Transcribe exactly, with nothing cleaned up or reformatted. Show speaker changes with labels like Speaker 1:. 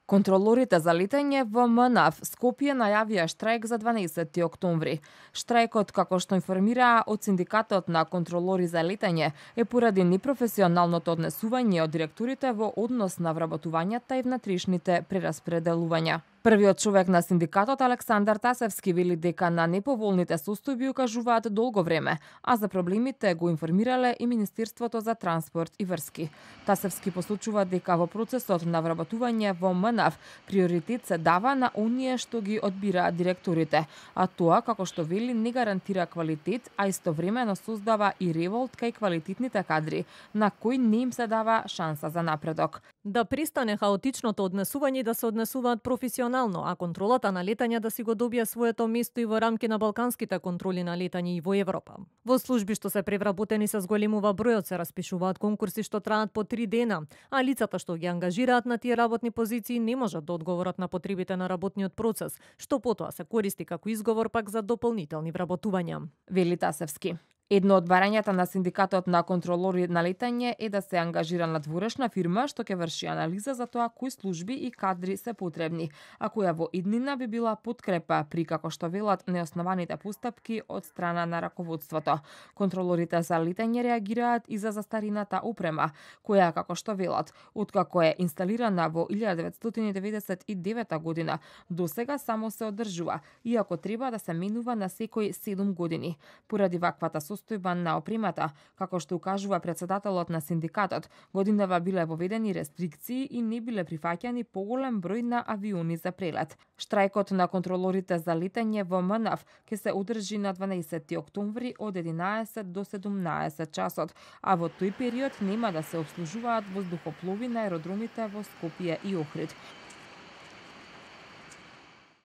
Speaker 1: Контролорите за летање во МНАФ Скопје најавија штрајк за дванаесетти октомври. Штрајкот, како што информираа од Синдикатот на контролори за летање, е поради непрофесионалното однесување од директорите во однос на вработувањата и внатрешните прераспределувања. Првиот човек на синдикатот Александар Тасевски вели дека на неповолните состојби укажуваат долго време, а за проблемите го информирале и Министерството за транспорт и врски. Тасевски посочува дека во процесот на вработување во МНАФ приоритет се дава на оние што ги одбираат директорите, а тоа, како што вели, не гарантира квалитет, а истовремено создава и револт кај квалитетните кадри, на кои не им се дава шанса за напредок.
Speaker 2: Да престане хаотичното однесување и да се однесуваат професионално, а контролата на летање да си го добие своето место и во рамки на балканските контроли на летање и во Европа. Во служби што се превработени се зголемува бројот, се распишуваат конкурси што траат по три дена, а лицата што ги ангажираат на тие работни позиции не можат да одговорат на потребите на работниот процес, што потоа се користи како изговор пак за дополнителни вработувања.
Speaker 1: Вели Тасевски. Едно од барањата на Синдикатот на контролори на летање е да се ангажира надворешна фирма што ќе врши анализа за тоа кои служби и кадри се потребни, а која во иднина би била подкрепа при, како што велат, неоснованите постапки од страна на раководството. Контролорите за летање реагираат и за застарината опрема, која, како што велат, откако е инсталирана во илјада деветстотини деветдесет и девета година, досега само се одржува, иако треба да се менува на секој седум години. Поради ваквата состојба на опремата, како што укажува председателот на синдикатот, годинава биле воведени рестрикции и не биле прифаќани поголем број на авиони за прелет. Штрајкот на контролорите за летање во МНАФ ќе се одржи на дванаесетти октомври од единаесет до седумнаесет часот, а во тој период нема да се обслужуваат воздухоплови на аеродромите во Скопје и Охрид.